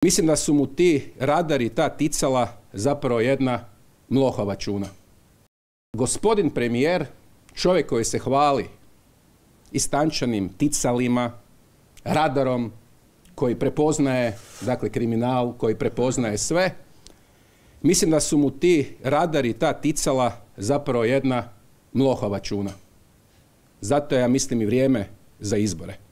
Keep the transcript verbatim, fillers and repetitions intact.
Mislim da su mu ti radari, ta ticala zapravo jedna mlohava čuna. Gospodin premijer, čovjek koji se hvali istančanim ticalima, radarom, koji prepoznaje, dakle, kriminal, koji prepoznaje sve, mislim da su mu ti radari, ta ticala zapravo jedna mlohava čuna. Zato ja mislim i vrijeme za izbore.